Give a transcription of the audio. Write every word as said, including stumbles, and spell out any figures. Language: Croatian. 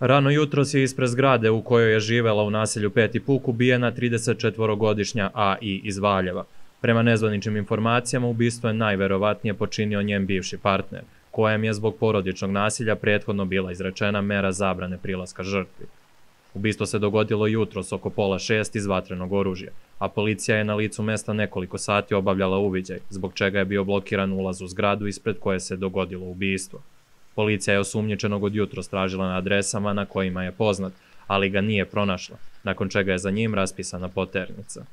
Rano jutros je ispred zgrade u kojoj je živela u naselju Peti Puk ubijena tridesetčetvorogodišnja A I iz Valjeva. Prema nezvaničnim informacijama, ubistvo je najverovatnije počinio njen bivši partner, kojem je zbog porodičnog nasilja prethodno bila izrečena mera zabrane prilaska žrtvi. Ubistvo se dogodilo jutros oko pola šest iz vatrenog oružja, a policija je na licu mesta nekoliko sati obavljala uviđaj, zbog čega je bio blokiran ulaz u zgradu ispred koje se dogodilo ubistvo. Policija je osumnjičenog od jutros tražila na adresama na kojima je poznat, ali ga nije pronašla, nakon čega je za njim raspisana poternica.